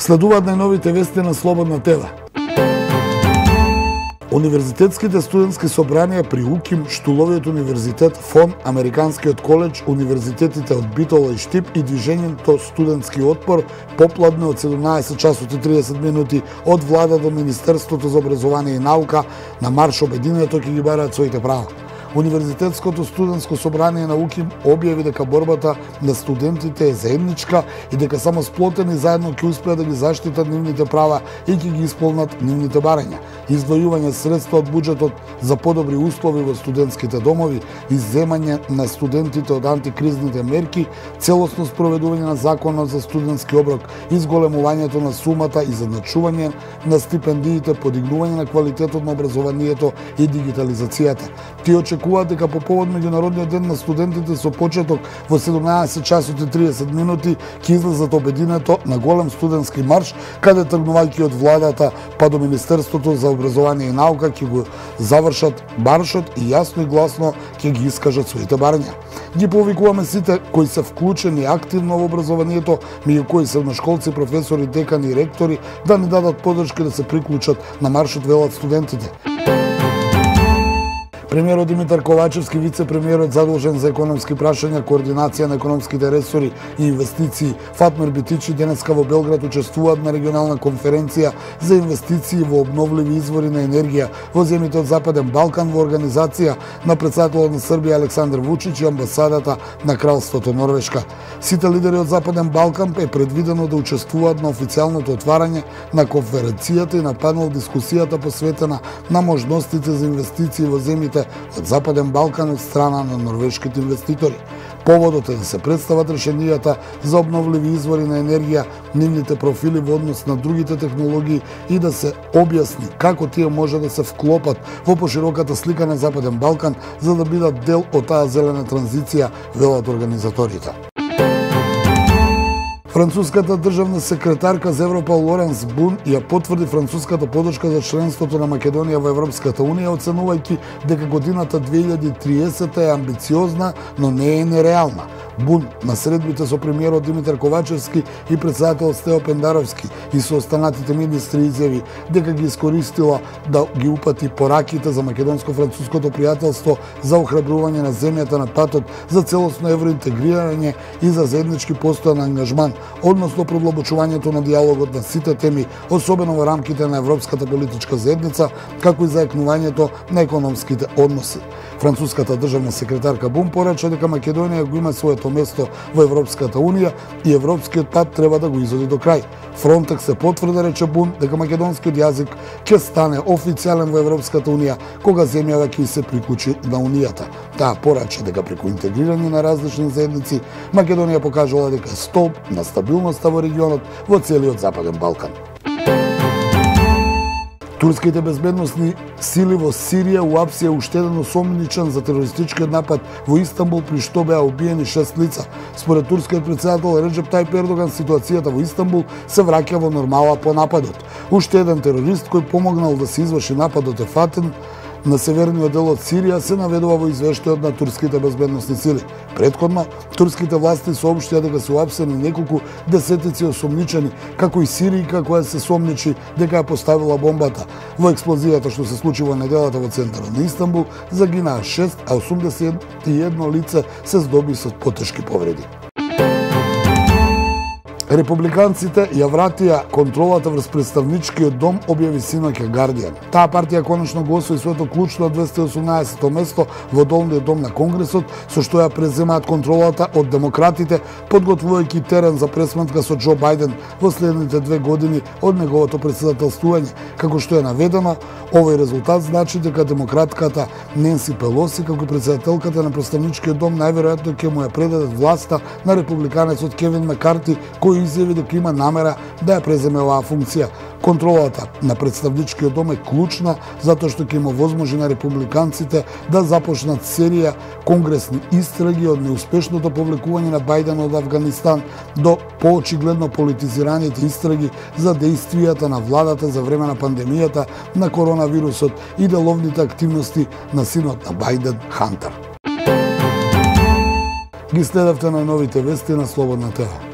Следуваат најновите вести на Слободна ТВ. Универзитетските студентски собранија при УКИМ, Штуловиот универзитет, ФОН, Американскиот коледж, универзитетите од Битола и Штип и движењето Студентски отпор попладне од 17 часот и 30 минути од влада до Министерството за образование и наука на марш обединето ќе ги бараат своите права. Универзитетското студентско собрание на УКИМ објави дека борбата на студентите е заедничка и дека само сплотени заедно ќе успеат да ги заштитат нивните права и ќе ги исполнат нивните барања. Издвојување средства од буџетот за подобри услови во студентските домови, изземање на студентите од антикризните мерки, целосно спроведување на законот за студентски оброк, изголемувањето на сумата и задначување на стипендиите, подигнување на квалитетот на образованието и дигитализацијата. Тие очекуваат дека по повод Меѓународниот ден на студентите со почеток во 17 часот и 30 минути ќе излезат обединето на голем студентски марш, каде тргнувајќи од владата па до Министерството за образование и наука ќе го завршат маршот и јасно и гласно ќе ги искажат своите барања. Ги повикуваме сите кои се вклучени активно во образованието, меѓу кои средношколци, професори, декани и ректори, да ни дадат поддршка да се приклучат на маршот, велат студентите. Премиерот Димитар Ковачевски, вице-премиерот задолжен за економски прашања, координација на економските ресори и инвестиции Фатмир Битичи денеска во Белград учествуваат на регионална конференција за инвестиции во обновливи извори на енергија во земјите од Западен Балкан во организација на претседателот на Србија Александар Вучич и амбасадата на Кралството Норвешка. Сите лидери од Западен Балкан е предвидено да учествуваат на официјалното отварање на конференцијата и на панел дискусијата посветена на можностите за инвестиции во земјите од Западен Балкан од страна на норвешките инвеститори. Поводот е да се представат решенијата за обновливи извори на енергија, нивните профили во однос на другите технологии и да се објасни како тие може да се вклопат во пошироката слика на Западен Балкан за да бидат дел од таа зелена транзиција, велат организаторите. Француската државна секретарка за Европа Лоренс Бун ја потврди француската поддршка за членството на Македонија во Европската унија, оценувајќи дека годината 2030 е амбициозна, но не е нереална. Бун на средбите со премиерот Димитар Ковачевски и председател Стео Пендаровски и со останатите министри изјави дека ги искористила да ги упати пораките за македонско-француското пријателство за охрабрување на земјата на патот за целосно евроинтегрирање и за заеднички постојан ангажман, односно продлабочувањето на диалогот на сите теми, особено во рамките на Европската политичка заедница, како и заекнувањето на економските односи. Француската државна секретарка Бун порача дека Македонија го има своето место во Европската унија и европскиот пат треба да го изводи до крај. Фронтекс се потврди, рече Бун, дека македонскиот јазик ќе стане официјален во Европската унија кога земјава ќе се приклучи на унијата. Таа порача дека преку интегрирање на различни заедници Македонија покажала дека е столб на стабилноста во регионот во целиот Западен Балкан. Турските безбедносни сили во Сирија уапсија уште еден осомничен за терористичкиот напад во Истанбул, при што беа убиени 6 лица. Според турскиот председател Реджеп Тајип Ердоган, ситуацијата во Истанбул се враќа во нормала по нападот. Уште еден терорист кој помогнал да се изврши нападот е фатен на северниот дел од Сирија, се наведува во извештајот на турските безбедносни сили. Предходно, турските власти соопштија дека се уапсени неколку десетици осомничени, како и Сиријка која се сомничи дека ја поставила бомбата. Во експлозијата што се случи во неделата во центарот на Истанбул загинаа 6, а 81 лице се здоби со потешки повреди. Републиканците ја вратија контролата врз представничкиот дом, објави синоќа Гардијан. Таа партија конечно го освои своето клучно 218-то место во долниот дом на Конгресот, со што ја преземаат контролата од демократите, подготвувајќи терен за пресматка со Џо Бајден во следните 2 години од неговото претседателствување. Како што е наведено, овој резултат значи дека демократката Ненси Пелоси, како претседателката на представничкиот дом, најверојатно ќе му ја предадат власта на републиканецот Кевин Макарти, кој изјави дека има намера да ја преземе оваа функција. Контролата на представничкиот дом е клучна затоа што ќе има возможност на републиканците да започнат серија конгресни истраги од неуспешното повлекување на Бајден од Авганистан до поочигледно политизираните истраги за дејствијата на владата за време на пандемијата на коронавирусот и деловните активности на синот на Бајден, Хантер. Ги следевте на новите вести на Слободна ТВ.